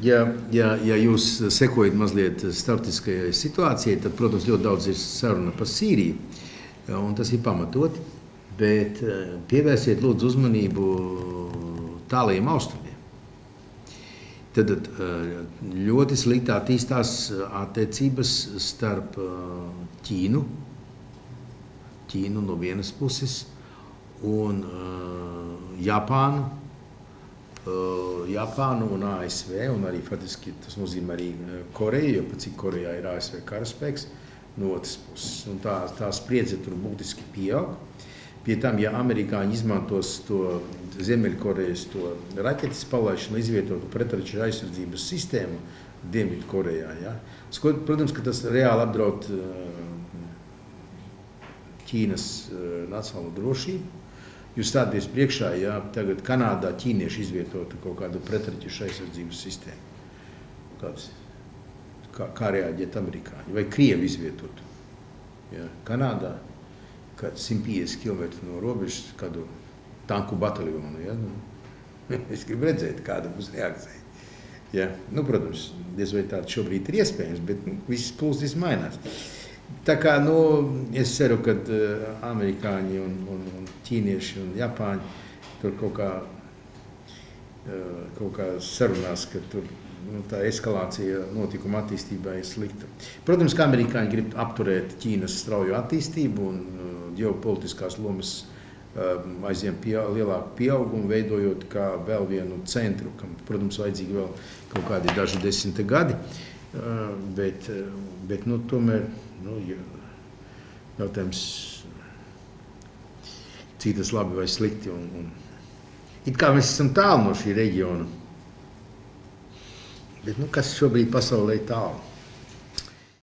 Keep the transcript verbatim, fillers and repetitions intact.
ja, ja, ja jūs sekojat mazliet starptautiskajai situācijai, tad, protams, ļoti daudz ir saruna par Sīriju, un tas ir pamatoti, bet pievērsiet lūdzu uzmanību tālajiem austrumiem. Tad ļoti slikti attīstās attiecības starp Ķīnu, Ķīnu no vienas puses, un uh, Japānu, uh, Japānu un A S V, un arī faktiski tas nozīmē arī Koreju, jo pat cik Korejā ir A S V karaspēks no otras puses. Un tā, tā spriedze tur būtiski pieaug. Pie tam, ja amerikāņi izmantos to Ziemeļkorejas to raķetes palaišanu, izvietotu pretraķu aizsardzības sistēmu Dienvidu Korejā, ja? Protams, ka tas reāli apdraud uh, Ķīnas uh, nacionālo drošību. Jūs stāties priekšā, ja tagad Kanādā ķīnieši izvietotu kaut kādu pretraķešu aizsardzības sistēmu. Kāds, kā, kā reaģēt amerikāņi? Vai Krievi izvietotu? Ja, Kanādā, kāds simt piecdesmit kilometri no robežas, kādu tanku bataljonu. Ja? Nu, es gribu redzēt, kāda būs reakcija. Ja? Nu, protams, diez vai tāda šobrīd ir iespējams, bet nu, visas plūstis mainās. Tā kā, nu, es ceru, ka uh, amerikāņi un, un, un ķīnieši un japāņi tur kaut kā, uh, kaut kā sarunās, ka tur nu, tā eskalācija notikuma attīstībā ir slikta. Protams, ka amerikāņi grib apturēt Ķīnas strauju attīstību un uh, ģeopolitiskās lomas uh, aizvien pieaug, lielāku pieaugumu, veidojot kā vēl vienu centru, kam, protams, vajadzīgi vēl kaut kādi daži desmiti gadi, uh, bet, uh, bet nu, tomēr Nu, jautājums, cik tas labi vai slikti. Un, un, it kā mēs esam tālu no šī reģiona, bet nu, kas šobrīd pasaulē ir tālu?